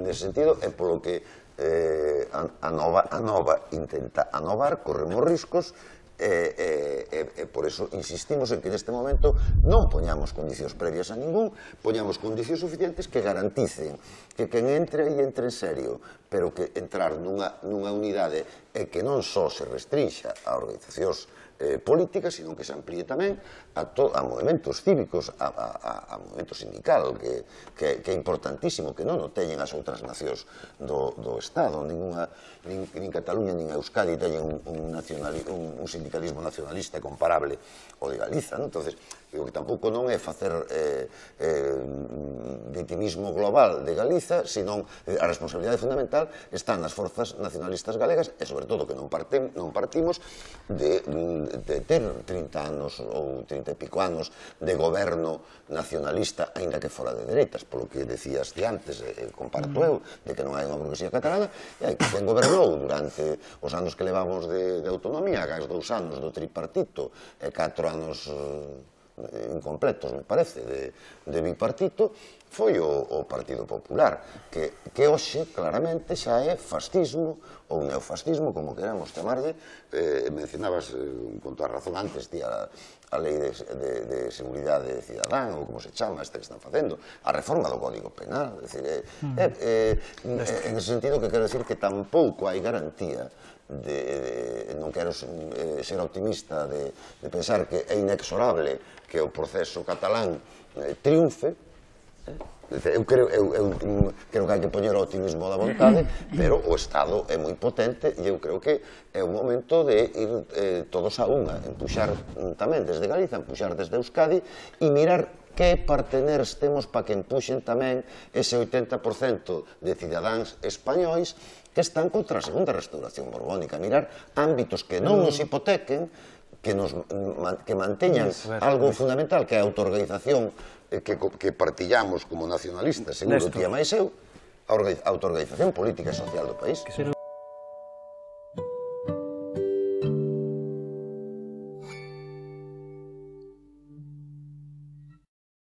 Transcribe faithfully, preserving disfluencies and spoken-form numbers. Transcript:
nese sentido, é polo que a nova intenta anovar, corremos riscos, e por eso insistimos en que neste momento non poñamos condicións previas a ningún, poñamos condicións suficientes que garanticen que quen entre e entre en serio, pero que entrar nunha unidade e que non só se restrinxa a organizacións políticas, sino que se amplíe tamén a movimentos cívicos, a movimento sindical, que é importantísimo, que non o teñen as outras nacións do Estado, nin Cataluña nin Euskadi teñen un sindicalismo nacionalista comparable ao de Galiza. Entón, o que tampouco non é facer vitimismo global de Galiza, senón a responsabilidade fundamental está nas forzas nacionalistas galegas e, sobre todo, que non partimos de ter trinta anos ou trinta e pico anos de goberno nacionalista, aínda que fora de dereitas, polo que decías de antes, comparto eu, de que non hai unha burguesía catalana, e hai que quen gobernou durante os anos que levamos de autonomía, gas dous anos do tripartito e catro anos incompletos, me parece, de bipartito, foi o Partido Popular, que hoxe claramente xa é fascismo ou neofascismo, como queramos chamarlle. Mencionabas con toda razón antes a Lei de Seguridade Cidadán, ou como se chama esta que están facendo, a reforma do Código Penal. En ese sentido, que quero dicir que tampouco hai garantía, non quero ser optimista de pensar que é inexorable que o proceso catalán triunfe. Eu creo que hai que poñer o optimismo da vontade, pero o Estado é moi potente e eu creo que é o momento de ir todos a unha, empuxar tamén desde Galiza, empuxar desde Euskadi e mirar que parteners temos para que empuxen tamén ese oitenta por cento de cidadáns españois que están contra a segunda restauración borbónica, mirar ámbitos que non nos hipotequen, que manteñan algo fundamental, que é a autoorganización que partillamos como nacionalistas, seguro ti e máis eu, a autoorganización política e social do país.